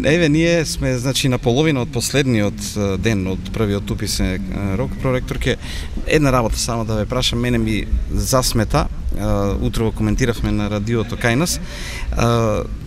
Еве, ние сме, значи, на половина од последниот ден од првиот уписен рок. Проректорке, една работа само да ве прашам, мене ми засмета, утрово коментиравме на радиото кај нас,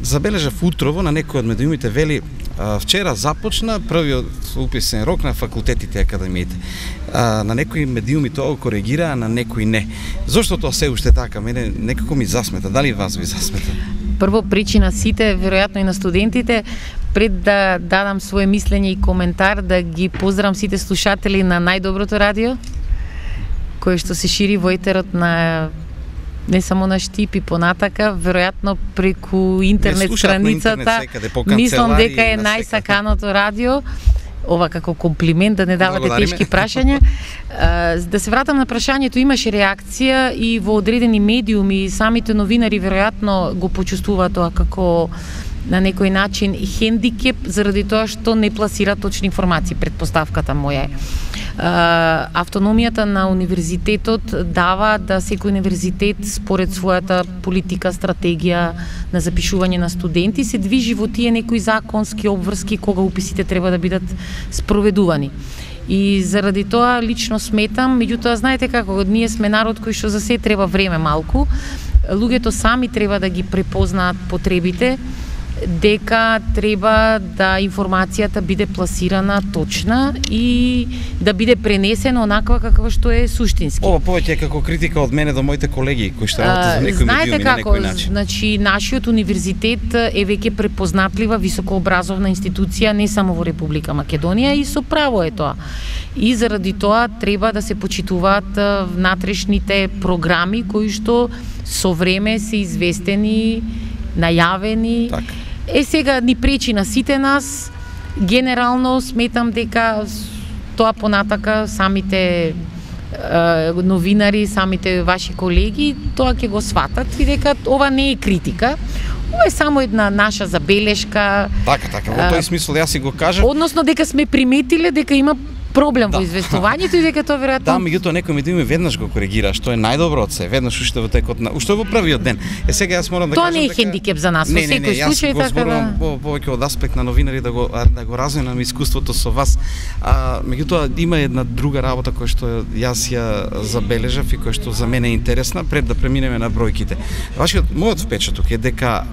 забележав утрово на некој од медиумите, вели, вчера започна првиот уписен рок на факултетите и академиите. На некои медиуми тоа коригира, а на некои не. Зошто тоа се уште така? Мене некако ми засмета. Дали вас ви засмета? Прво причина сите, веројатно и на студентите, пред да дадам свое мислење и коментар, да ги поздравам сите слушатели на најдоброто радио, кое што се шири во етерот на не само на Штип и понатака, веројатно преку интернет страницата, мислам дека е најсаканото радио. Ова како комплимент, да не давате тешки прашања. Да се вратам на прашањето, имаше реакција и во одредени медиуми, самите новинари веројатно го почувствуваат тоа како на некој начин хендикеп, заради тоа што не пласира точни информации, предпоставката моја е. Автономијата на универзитетот дава да секој универзитет според својата политика, стратегија на запишување на студенти се движи во тие некои законски обврски кога уписите треба да бидат спроведувани. И заради тоа лично сметам, меѓутоа знаете како, ние сме народ кој што за се треба време малку, луѓето сами треба да ги препознаат потребите, дека треба да информацијата биде пласирана точна и да биде пренесена онаква каква што е суштински. Ова повеќе како критика од мене до моите колеги кои што работат за некои медиуми на некој начин. Значи, нашиот универзитет е веќе препознатлива високообразовна институција не само во Република Македонија и со право е тоа. И заради тоа треба да се почитуваат внатрешните програми кои што со време се известени, најавени. Така. Сега ни пречи на сите нас. Генерално сметам дека тоа понатака самите новинари, самите ваши колеги, тоа ќе го сватат и дека ова не е критика. Ова е само една наша забелешка. Така, во тој смисол јас си го кажав. Односно дека сме приметиле дека има проблем во известувањето и дека тоа веројатно. Да, меѓутоа некој медиуми веднаш го коригира, што е најдобро од се, веднаш уште во текот на уште во првиот ден. Сега јас морам да тоа кажам не е хендикеп за нас, во секој случај така да. Повеќе од аспект на новинари да го разменам искуството со вас. Меѓутоа има една друга работа која што јас ја забележав и која што за мене е интересна пред да преминеме на бројките. Мојот впечаток е дека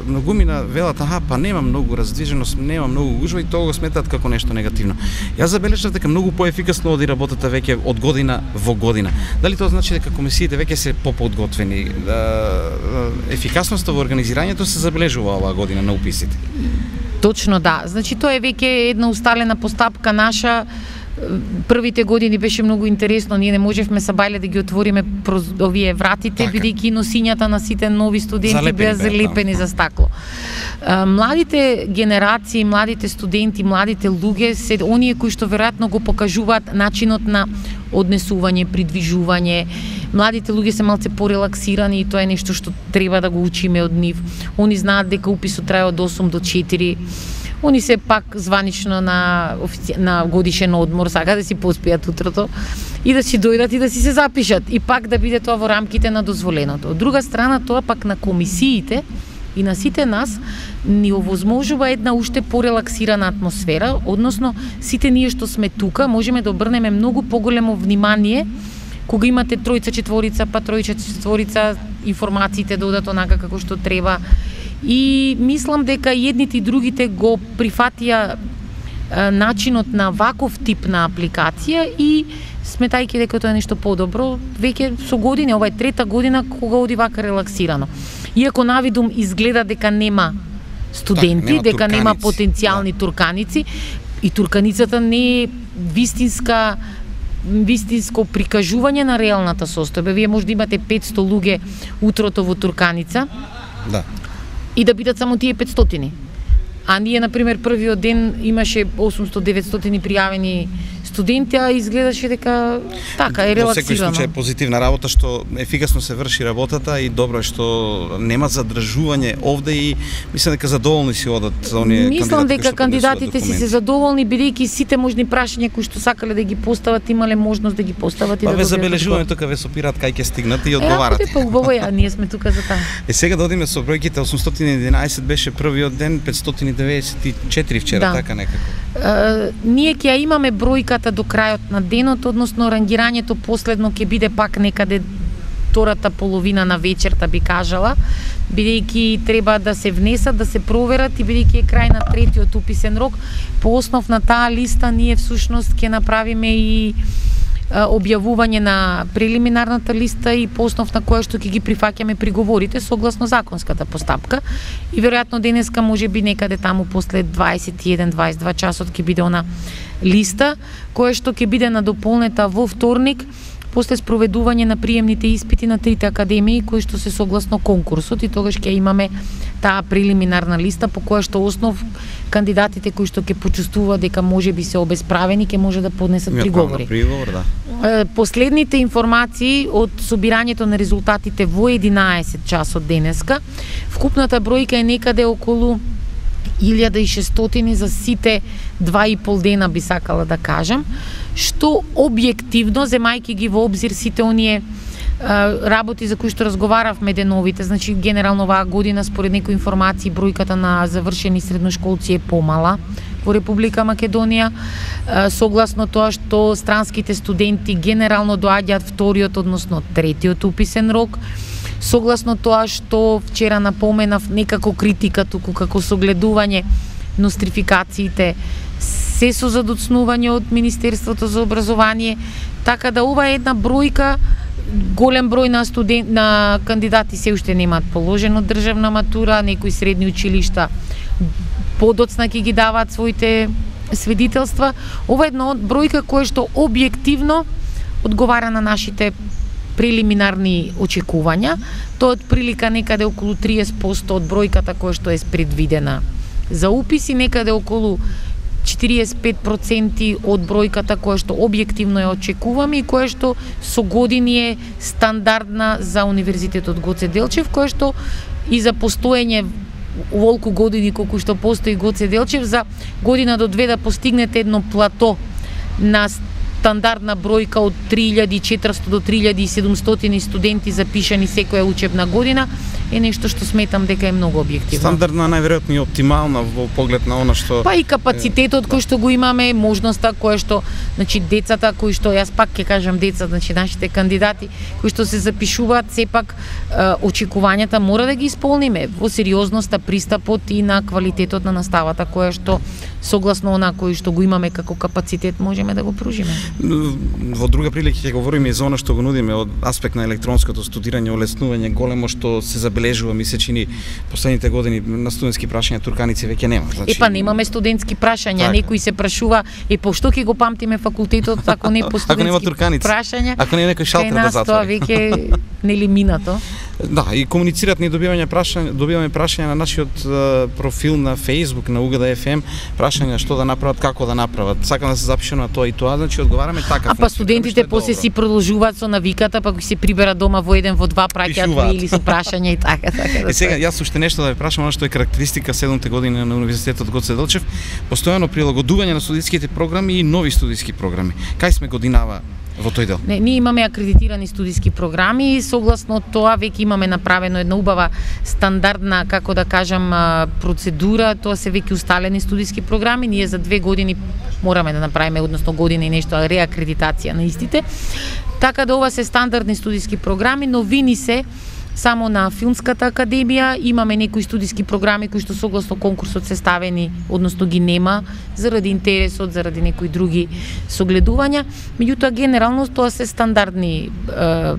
многумина велат, па нема многу раздвиженост, нема многу гужва и тоа го сметаат како нешто негативно. Јас забележав дека многу поефикасно оди работата веќе од година во година. Дали тоа значи дека комисиите веќе се поподготвени? Ефикасноста во организирањето се забележува оваа година на уписите? Точно да. Значи тоа е веќе една усталена постапка наша. Првите години беше многу интересно, ние не можевме са бајле да ги отвориме овие вратите, бидејќи носињата на сите нови студенти беа залепени за стакло. Младите генерации, младите студенти, младите луѓе се оние кои што веројатно го покажуваат начинот на однесување, придвижување. Младите луѓе се малце порелаксирани и тоа е нешто што треба да го учиме од нив. Они знаат дека уписот трае од 8 до 4. Они се пак званично на годишен одмор, сака да си поспијат утрото и да си дојдат и да си се запишат и пак да биде тоа во рамките на дозволеното. Од друга страна, тоа пак на комисиите и на сите нас ни овозможува една уште порелаксирана атмосфера, односно сите ние што сме тука можеме да обрнеме многу поголемо внимание кога имате тројца, четворица, па тројца, четворица, информациите да одат онака како што треба. И мислам дека едните и другите го прифатија начинот на ваков тип на апликација и сметајќи дека тоа е нешто подобро, веќе со години, ова е трета година кога оди вака релаксирано. Иако навидум изгледа дека нема студенти, нема дека нема турканици, потенцијални турканици и турканицата не е вистинско прикажување на реалната состојба. Вие може да имате 500 луѓе утрото во Турканица. Да. И да бидат само тие 500. А ние, например, првиот ден имаше 800-900 пријавени студенти, а изгледаше дека така е релаксирано. Во секој случај позитивна работа, што ефикасно се врши работата и добро е што нема задржување овде и мислам дека задоволни си одат за оние кандидати. Мислам дека кандидатите си се задоволни бидејќи сите можни прашања кои што сакале да ги постават имале можност да ги постават и да ве забележуваме тука, ве сопираат кај ќе стигнат и одговарате. Е, убаво е, ние сме тука за таа. Сега да одиме со бројките. 811 беше првиот ден, 594 вчера, така некако. Ние ќе ја имаме бројката до крајот на денот, односно рангирањето последно ќе биде пак некаде втората половина на вечерта, би кажала, бидејќи треба да се внесат, да се проверат и бидејќи е крај на третиот уписен рок, по основ на таа листа ние всушност ќе направиме и објавување на прелиминарната листа и по основ на која што ќе ги прифаќаме приговорите согласно законската постапка и веројатно денеска можеби некаде таму после 21-22 часот ќе биде она листа која што ќе биде надополнета во вторник после спроведување на приемните испити на трите академии кои што се согласно конкурсот и тогаш ќе имаме таа прелиминарна листа по која што основ кандидатите кои што ќе почувствуваат дека можеби се обесправени ќе може да поднесат приговори. Последните информации од собирањето на резултатите во 11 часот денеска, вкупната бројка е некаде околу 1600 за сите 2,5 дена, би сакала да кажам, што објективно, земајќи ги во обзир сите оние работи за кои што разговаравме деновите, значи генерално оваа година според некои информации бројката на завршени средношколци е помала во Република Македонија, согласно тоа што странските студенти генерално доаѓаат вториот, односно третиот уписен рок, согласно тоа што вчера напоменав некако критика туку како согледување нострификациите се со задоцнување од Министерството за образование, така да ова е една бројка. Голем број на кандидати се уште немаат положено државна матура, некои средни училишта подоцна ќе ги даваат своите свидетелства. Ова е една бројка која што објективно одговара на нашите прелиминарни очекувања. Тоа од прилика некаде околу 30% од бројката која што е предвидена за уписи, некаде околу 45% од бројката која што објективно ја очекуваме и која што со години е стандардна за Универзитетот Гоце Делчев, која што и за постоење волку години колку што постои Гоце Делчев, за година до две да постигнете едно плато на стандардна бројка од 3400 до 3700 студенти запишани секоја учебна година е нешто што сметам дека е многу објективно. Стандардна, најверојатно и оптимална во поглед на она што па и капацитетот кој што го имаме, можноста која што, значи децата кои што, јас пак ќе кажам деца, значи нашите кандидати кои што се запишуваат, сепак очекувањата мора да ги исполниме во сериозноста, пристапот и на квалитетот на наставата која што согласно она кој што го имаме како капацитет можеме да го пружиме. Во друга прилика ќе говориме и за она што го нудиме од аспект на електронското студирање, олеснување големо што се забележува, ми се чини последните години на студентски прашања турканици веќе нема. Значи Епа немаме студентски прашања, некој се прашува по што ќе го памтиме факултетот ако не по студентски прашања. Ако не некој шалтер да затвори. Тоа веќе нели минато. Да, и комуницираат ни добиваме прашања на нашиот профил на Facebook на УГД FM, прашања што да направат, како да направат. Сакам да се запишам на тоа и тоа, значи одговараме така. Па студентите после си продолжуваат со навиката, па кога се приберат дома во 1 во 2 праќаат или со прашања и така да. И сега јас уште нешто да ве прашам, она што е карактеристика 7-те години на Универзитетот Гоце Делчев, постојано прилагодување на студиските програми и нови студиски програми. Кај сме годинава во тој дел? Не, ние имаме акредитирани студиски програми и согласно тоа веќе имаме направено една убава стандардна, како да кажам, процедура, тоа се веќе усталени студиски програми, ние за 2 години мораме да направиме, односно година и нешто реакредитација на истите. Така да ова се стандардни студиски програми, новини се само на Филмската академија, имаме некои студиски програми кои што согласно конкурсот се ставени, односно ги нема заради интересот, заради некои други согледувања. Меѓутоа генерално тоа се стандардни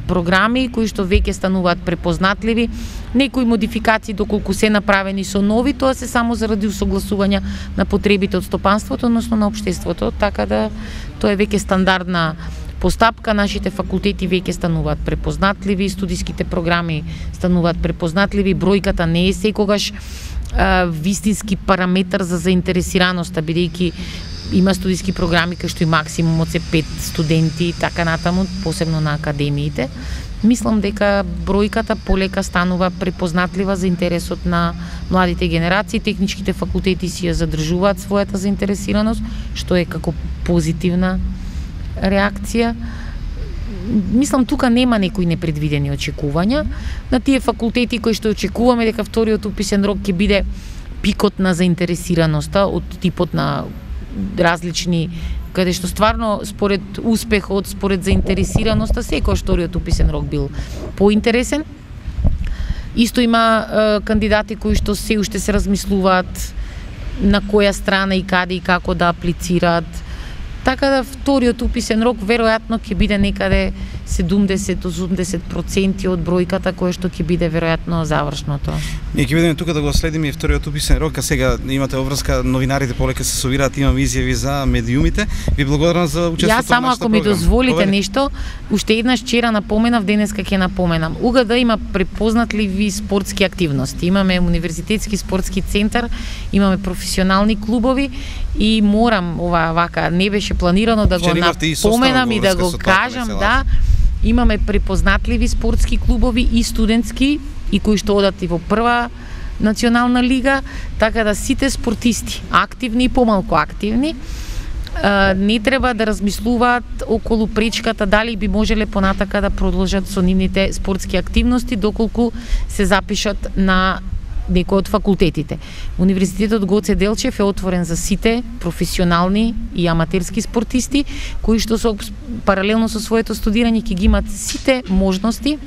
програми кои што веќе стануваат препознатливи. Некои модификации доколку се направени со нови, тоа се само заради усогласување на потребите од стопанството, односно на општеството, така да тоа е веќе стандардна постапка нашите факултети веќе стануваат препознатливи, студиските програми стануваат препознатливи, бројката не е секогаш вистински параметар за заинтересираноста, бидејќи има студиски програми кај што и максимумот се 5 студенти и така натаму, посебно на академиите. Мислам дека бројката полека станува препознатлива за интересот на младите генерации, техничките факултети си ја задржуваат својата заинтересираност, што е како позитивна реакција. Мислам, тука нема некои непредвидени очекувања. На тие факултети кои што очекуваме дека вториот уписен рок ќе биде пикот на заинтересираноста од типот на различни, каде што стварно според успехот, според заинтересираноста, секој вториот уписен рок бил поинтересен. Исто има кандидати кои што се уште се размислуваат на која страна и каде и како да аплицираат. Така да вториот уписен рок веројатно ќе биде некаде 70-80% од бројката која што ќе биде веројатно завршното. Ние ќе бидеме тука да го следиме и вториот уписен рок, а сега имате обврска, новинарите полека се собираат, имам изјави за медиумите. Ви благодарам за учеството во нашата програма. Јас само ако ми дозволите нешто, уште еднаш вчера напоменав, денеска ќе напоменам. УГД има препознатливи спортски активности. Имаме универзитетски спортски центар, имаме професионални клубови и морам вака не беше планирано да го напоменам и да го кажам, да. Имаме препознатливи спортски клубови и студентски и кои што одат и во прва национална лига, така да сите спортисти, активни и помалку активни, не треба да размислуваат околу пречката дали би можеле понатака да продолжат со нивните спортски активности доколку се запишат на некој од факултетите. Универзитетот Гоце Делчев е отворен за сите професионални и аматерски спортисти кои што паралелно со своето студирање ќе ги имат сите можности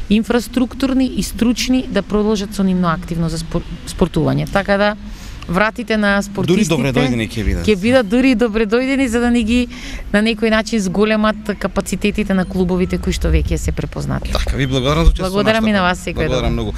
инфраструктурни и стручни да продолжат со нивно активно за спортување. Така да вратите на спортистите дури добредојдени ќе бидат дури добредојдени за да ни ги на некој начин зголемат капацитетите на клубовите кои што веќе се препознати. Така, ви благодарам за учеството. Благодарам и на вас секој. Благодарам многу.